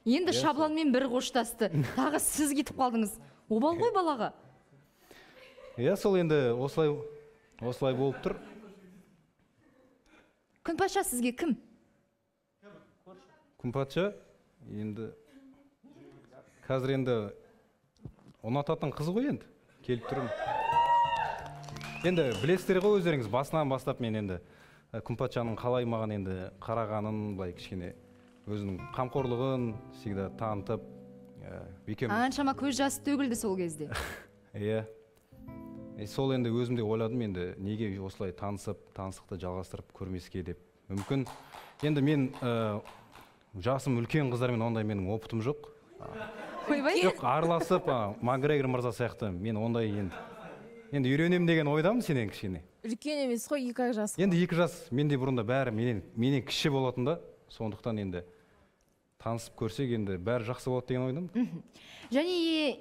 [SPEAKER 1] Енді Шабланмен бір қоштасты, тағы сіз кетіп қалдыңыз. Обал ғой балаға.
[SPEAKER 11] Иә, сол енді осылай Осылай болып тұр.
[SPEAKER 1] Күнпатша сізге кім?
[SPEAKER 11] Күнпатша енді қазір енді ұнататын қыз ғой енді келіп тұрмын. енді білесіздер ғой өздеріңіз, басынан бастап мен енді Күнпатшаның қалай маған енді қарағанын, былай кішкене өзінің қамқорлығын всегда танытып, екеуміз
[SPEAKER 1] Аншама көз жасы төгілді сол кезде.
[SPEAKER 11] Иә. Сол енді өзімде ойладым, енді неге осылай танысып, таныстықты жалғастырып көрмеске деп. Мүмкін енді мен жасым үлкен қыздармен ондай менің опытым жоқ. Жоқ, араласып, Макгрегор мырза сияқты мен ондай енді енді үйренем деген ойдамын сенен кішкене.
[SPEAKER 2] Үлкен емес қой, екі жас.
[SPEAKER 11] Енді екі жас, менде бұрында бәрі менен менен кіші болатын да, сондықтан енді танысып көрсек енді бәрі жақсы болады деген ойдамын.
[SPEAKER 1] Және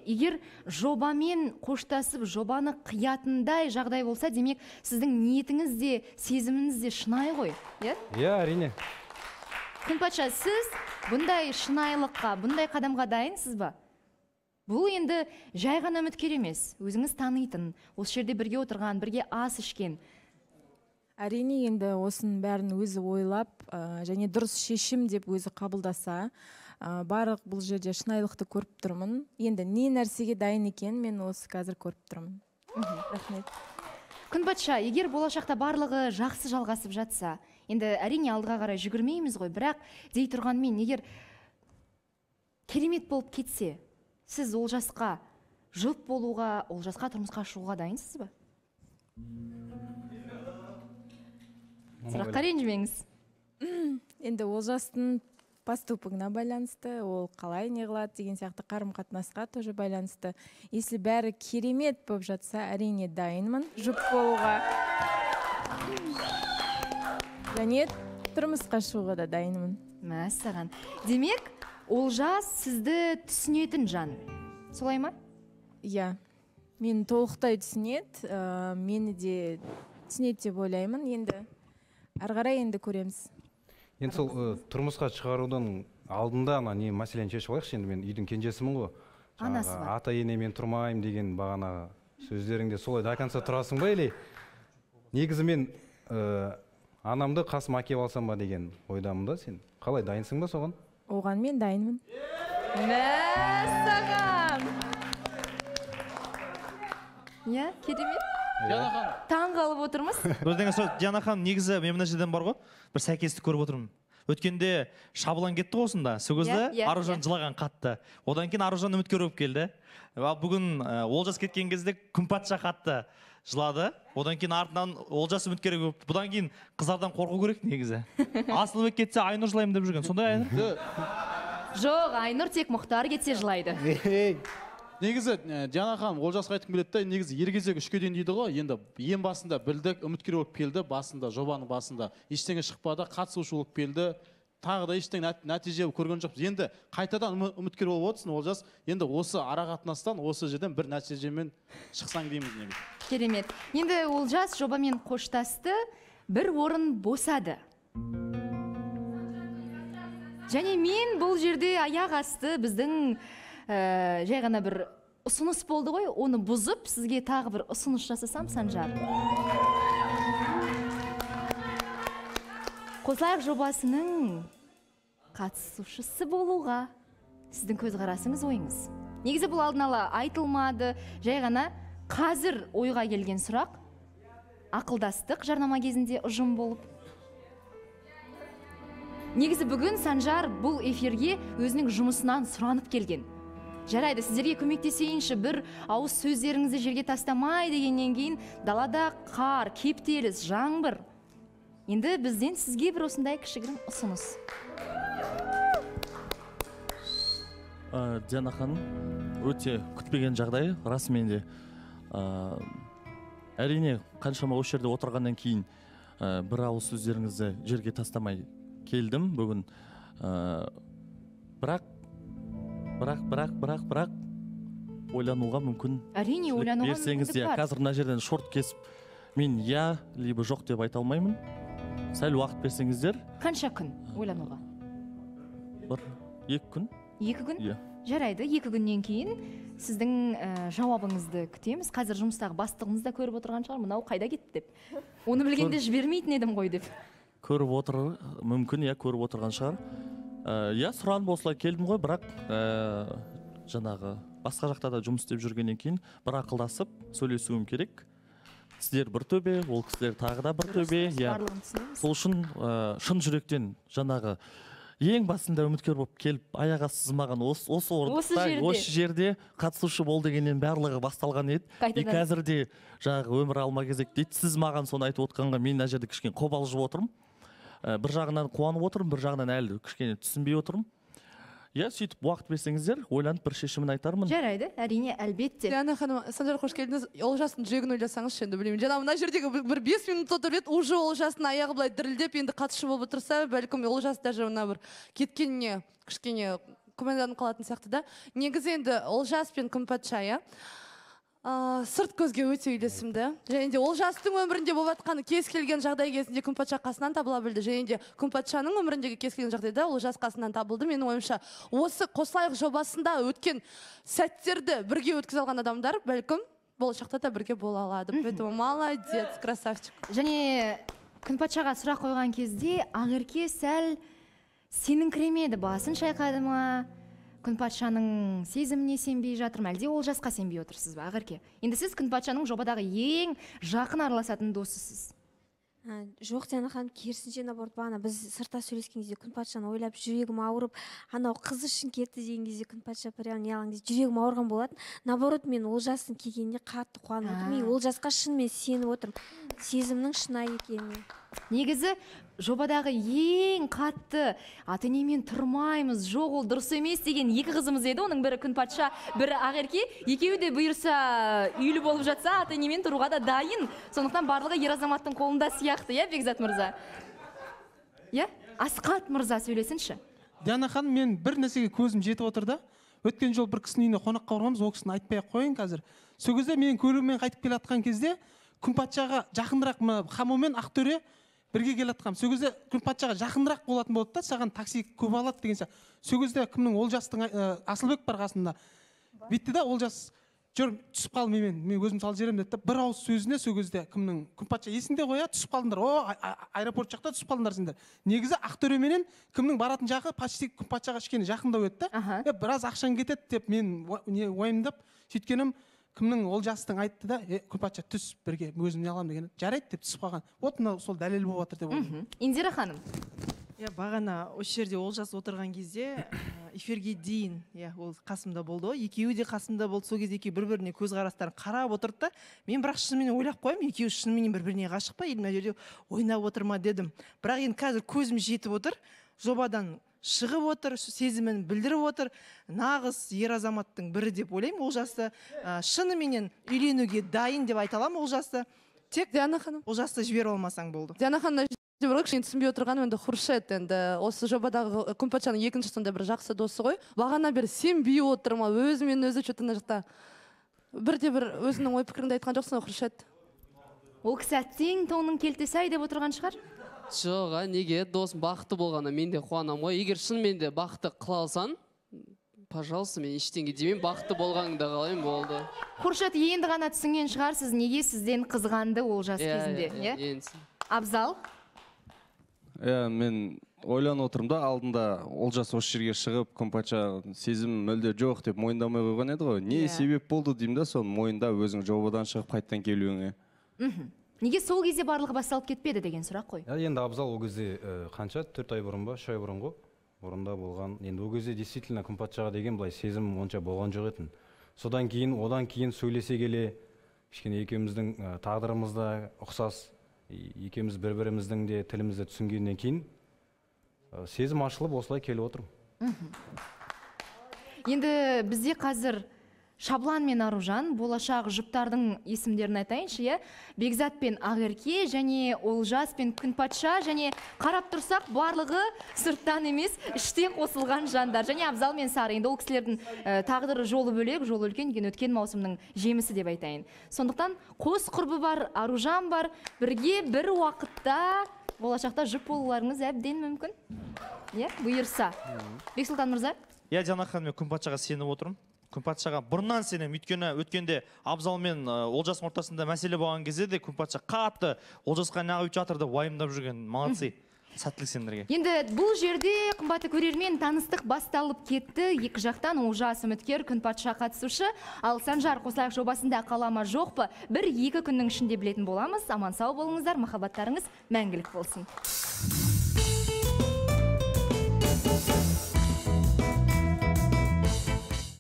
[SPEAKER 1] егер жобамен қоштасып, жобаны қиятындай жағдай болса, демек сіздің ниетіңіз де, сезіміңіз де шынайы ғой, иә?
[SPEAKER 11] Иә, әрине.
[SPEAKER 1] Күнпатша, сіз бұндай шынайылыққа, бұндай қадамға дайынсыз ба? Бұл енді жай ғана үміткер емес, өзіңіз танитын, осы жерде бірге отырған, бірге ас ішкен.
[SPEAKER 2] Әрине енді осының бәрін өзі ойлап, және дұрыс шешім деп өзі қабылдаса, барлық бұл жерде шынайылықты көріп тұрмын. Енді не нәрсеге дайын екен, мен осы қазір көріп тұрмын. Рахмет.
[SPEAKER 1] Күнпатша, егер болашақта барлығы жақсы жалғасып жатса, енді әрине алдыға қарай жүгірмейміз ғой, бірақ дей тұрғанмен, егер керемет болып кетсе, сіз ол жасқа жұп болуға, ол жасқа тұрмысқа шығуға дайынсыз ба? Сұраққа ренжімеңіз.
[SPEAKER 2] Енді ол жастың поступогына байланысты, ол қалай не қылады деген сияқты қарым-қатынасқа тоже байланысты. Если бәрі керемет болып жатса, әрине дайынмын жұп болуға. Және тұрмысқа шығуға да дайынмын.
[SPEAKER 1] Мәссаған. Демек, ол жас сізді түсінетін жан. Солай ма?
[SPEAKER 2] Иә. Мен толықтай түсінеді, мені де түсінеді деп ойлаймын. Енді әрғарай енді көреміз.
[SPEAKER 11] Енді сол тұрмысқа шығарудың алдында не мәселені шешіп алайықшы, енді мен үйдің кенжесімін ғой.
[SPEAKER 1] Анасы бар.
[SPEAKER 11] Ата енемен тұрмаймын деген бағана сөздеріңде солай до конца тұрасың ба, или негізі мен анамды қасыма әкеп алсам ба деген ойдамын да. Сен қалай, дайынсың ба соған?
[SPEAKER 2] Оған мен дайынмын.
[SPEAKER 1] Мәссаған! Иә, керемет. Таң қалып отырмыз.
[SPEAKER 4] Өздеңіз сол, Диана ханым, негізі мен мына жерден бар ғой, бір сәйкестік көріп отырмын. Өткенде Шабылан кетті осында, Сөгізді Аружан жылаған қатты. Одан кейін Аружан үміткер болып келді. Бүгін Олжас кеткен кезде Күнпатша қатты жылады. Одан кейін артынан Олжас үміткер болып. Бұдан кейін қыздардан қорқу керек негізі. Асылбек кетсе Айнұр жылаймын деп жүрген. Сондай Айнұр?
[SPEAKER 1] Жоқ, Айнұр тек Мұхтар кетсе жылайды.
[SPEAKER 12] Негізі Диана ханым Олжасқа айтқым келеді, негізі ер кезек үшке дейін дейді ғой. Енді ең басында білдік, үміткер болып келді, басында, жобаның басында ештеңе шықпады, қатысушы болып келді. Тағы да ештеңе нәтиже көрген жоқпыз. Енді қайтадан үміткер болып отырсың Олжас. Енді осы арақатынастан осы жерден бір нәтижемен шықсаң дейміз негізі.
[SPEAKER 1] Керемет. Енді Олжас жобамен қоштасты, бір орын босады. Және мен бұл жерде аяқ асты біздің жай ғана бір ұсыныс болды ғой, оны бұзып, сізге тағы бір ұсыныс жасасам, Санжар. Қосылайық жобасының қатысушысы болуға сіздің көзқарасыңыз, ойыңыз. Негізі бұл алдын ала айтылмады, жай ғана қазір ойға келген сұрақ, ақылдастық жарнама кезінде ұжым болып. Негізі бүгін Санжар бұл эфирге өзінің жұмысынан сұранып келген. Жарайды, сіздерге көмектесейінші, бір ауыз сөздеріңізді жерге тастамай дегеннен кейін далада қар, кептеліс, жаңбыр. Енді бізден сізге бір осындай кішігірім ұсыныс.
[SPEAKER 7] Диана ханым, өте күтпеген жағдай, расымен де. Әрине, қаншама осы жерде отырғаннан кейін бір ауыз сөздеріңізді жерге тастамай келдім бүгін. Бірақ Бірақ, бірақ, бірақ, бірақ ойлануға мүмкін.
[SPEAKER 1] Әрине, ойлануға
[SPEAKER 7] мүмкіндік бар. Қазір мына жерден шорт кесіп, мен я, либо жоқ деп айта алмаймын. Сәл уақыт берсеңіздер.
[SPEAKER 1] Қанша күн ойлануға?
[SPEAKER 7] Бір, екі күн.
[SPEAKER 1] Екі күн?
[SPEAKER 7] Иә.
[SPEAKER 1] Жарайды, екі күннен кейін сіздің жауабыңызды күтеміз. Қазір жұмыстағы бастығыңыз да көріп отырған шығар, мынау қайда кетті деп. Оны білгенде жібермейтін едім ғой деп.
[SPEAKER 7] Көріп отыр, мүмкін, иә, көріп отырған шығар. Иә, сұранып осылай келдім ғой, бірақ жаңағы басқа жақта да жұмыс істеп жүргеннен кейін бір ақылдасып сөйлесуім керек. сіздер бір төбе, ол кісілер тағы да бір төбе. Сол үшін шын жүректен жаңағы ең басында үміткер болып келіп аяға сызмаған осы орында, осы жерде қатысушы бол дегеннен барлығы басталған еді. И қазір де жаңағы өмір алма кезек дейді. Сіз маған соны айтып отқанға мен мына жерде кішкене қобалжып отырмын. Бір жағынан қуанып отырмын, бір жағынан әлі кішкене түсінбей отырмын. Иә, сөйтіп уақыт берсеңіздер, ойланып бір шешімін айтармын.
[SPEAKER 1] Жарайды, әрине, әлбетте.
[SPEAKER 13] Диана ханым, Санжар, қош келдіңіз. Олжастың жүрегін ойласаңызшы, енді білмеймін. Жаңа мына жердегі бір бес минут отырып еді, уже Олжастың аяғы былай дірілдеп, енді қатысушы болып отырса, бәлкім Олжас даже мына бір кеткеніне кішкене күмәнданып қалатын сияқты да. Негізі енді Олжас пен Күнпатша, иә, сырт көзге өте үйлесімді. Және де Олжастың өмірінде болып жатқаны кез келген жағдай кезінде Күнпатша қасынан табыла білді. Және де Күнпатшаның өміріндегі кез келген жағдайда Олжас қасынан табылды. Менің ойымша, осы қосылайық жобасында өткен сәттерді бірге өткізе алған адамдар бәлкім болашақта да бірге бола алады. Поэтому молодец, красавчик.
[SPEAKER 1] Және Күнпатшаға сұрақ қойған кезде Ақерке сәл сеніңкіремеді, басын шайқады ма? Күнпатшаның сезіміне сенбей жатырмын, әлде Олжасқа сенбей отырсыз ба, Ақерке? Енді сіз Күнпатшаның жобадағы ең жақын араласатын досысыз.
[SPEAKER 3] Жоқ, Диана ханым, керісінше наоборот, бағана біз сыртта сөйлескен кезде Күнпатшаны ойлап жүрегім ауырып, анау қыз үшін кетті деген кезде Күнпатша прям неғылған кезде жүрегім ауырған болатын. Наоборот, мен Олжастың келгеніне қатты қуанып отырмын. Мен Олжасқа шынымен сеніп отырмын. Сезімнің шынайы екеніне.
[SPEAKER 1] Негізі жобадағы ең қатты ата-енемен тұрмаймыз, жоқ ол дұрыс емес деген екі қызымыз еді. Оның бірі Күнпатша, бірі Ақерке. Екеуі де бұйырса үйлі болып жатса, ата-енемен тұруға да дайын. Сондықтан барлығы ер азаматтың қолында сияқты, иә, Бекзат мырза? Иә? Асқат мырза сөйлесінші.
[SPEAKER 6] Диана ханым, мен бір нәрсеге көзім жетіп отыр да. Өткен жол бір кісінің үйіне қонаққа барғанбыз, ол кісіні айтпай-ақ қойын қазір. Сол кезде мен көлігіммен қайтып келе жатқан кезде Күнпатшаға жақындырақ Хамо мен Ақтөре бірге келе жатқанмын. Сол кезде Күнпатшаға жақындырақ болатын болды да, саған такси көп алады деген сияқты. Сол кезде кімнің Олжастың Асылбек бар қасында. Бүйтті да Олжас, жүр, түсіп қал менімен, мен өзім салып жіберемін деді. Бір ауыз сөзіне сол кезде кімнің Күнпатша есінде қоя, түсіп қалдыңдар. О, аэропорт жақта түсіп қалдыңдар сендер. Негізі Ақтөре менен кімнің баратын жағы почти Күнпатшаға кішкене жақындау еді да. Біраз ақшаң кетеді деп мен уайымдап сөйткенім кімнің Олжастың айтты да, Күнпатша түс бірге өзім не аламын деген. Жарайды деп түсіп қалған. Вот мынау сол дәлел болып жатыр деп ойлаймын.
[SPEAKER 1] Индира ханым.
[SPEAKER 14] Иә, бағана осы жерде Олжас отырған кезде эфирге дейін, иә, ол қасымда болды ғой. Екеуі де қасымда болды. Сол кезде екеуі бір-біріне көзқарастарын қарап отырды да, мен бірақ шынымен ойлап қоямын, екеуі шынымен бір-біріне ғашық па, мына жерде ойнап отыр ма дедім. Бірақ енді қазір көзім жетіп отыр, жобадан шығып отыр, сезімін білдіріп отыр. Нағыз ер азаматтың бірі деп ойлаймын Олжасты. Шыныменен үйленуге дайын деп айта аламын Олжасты. Тек
[SPEAKER 13] Диана ханым,
[SPEAKER 14] Олжасты жібере алмасаң болды.
[SPEAKER 13] Диана ханым, кішкене түсінбей отырғаным енді Хуршет, енді осы жобадағы Күнпатшаның екінші сонда бір жақсы досы ғой. Бағана бері сенбей отыр ма, өзімен өзі что-то мына жақта бірде бір өзінің ой пікіріңді айтқан жоқсың ғой, Хуршет?
[SPEAKER 1] Ол кісі әттең тонның келтесі ай деп отырған шығар?
[SPEAKER 15] Жоқ, неге досым бақытты болғанда мен де қуанамын ғой. Егер шынымен де бақытты қыла алсаң, пожалуйста, мен ештеңе демеймін, бақытты болғаныңды қалаймын, болды.
[SPEAKER 1] Хуршет, енді ғана түсінген шығарсыз, неге сізден қызғанды Олжас кезінде, иә? Абзал?
[SPEAKER 16] Иә, мен ойланып отырмын да, алдында Олжас осы жерге шығып, Күнпатша сезім мүлде жоқ деп мойындамай қойған еді ғой. Не себеп болды деймін да, соны мойында өзің жобадан шығып қайттан келуіңе.
[SPEAKER 1] Неге сол кезде барлығы басталып кетпеді деген сұрақ қой.
[SPEAKER 11] Енді Абзал ол кезде қанша, төрт ай бұрын ба, үш ай бұрын ғой, орында болған. Енді ол кезде действительно Күнпатшаға деген былай сезім онша болған жоқ етін. Содан кейін, одан кейін сөйлесе келе, кішкене екеуміздің тағдырымыз да ұқсас, екеуміз бір-біріміздің де тілімізді түсінгеннен кейін сезім ашылып осылай келіп отырмын.
[SPEAKER 1] Енді бізде қазір Шаблан мен Аружан, болашақ жұптардың есімдерін айтайыншы, иә? Бекзат пен Ақерке, және Олжас пен Күнпатша, және қарап тұрсақ, барлығы сырттан емес, іштен қосылған жандар. Және Абзал мен Сары, енді ол кісілердің тағдыры жолы бөлек, жолы үлкен, өткен маусымның жемісі деп айтайын. Сондықтан қос құрбы бар, Аружан бар, бірге бір уақытта болашақта жұп болуларыңыз әбден мүмкін. Иә, бұйырса. Бексұлтан мырза?
[SPEAKER 4] Иә, Диана ханым, мен Күнпатшаға сеніп отырмын. Күнпатшаға бұрыннан сенем, өйткені өткенде Абзал мен Олжастың ортасында мәселе болған кезде де Күнпатша қатты Олжасқа неғып жатыр деп уайымдап жүрген, молодцы. сәттілік сендерге.
[SPEAKER 1] Енді бұл жерде қымбатты көрермен таныстық басталып кетті. Екі жақтан олжас үміткер, Күнпатша қатысушы. Ал Санжар қосылайық жобасында қалама жоқ па? Бір екі күннің ішінде білетін боламыз. Аман сау болыңыздар, махаббаттарыңыз мәңгілік болсын.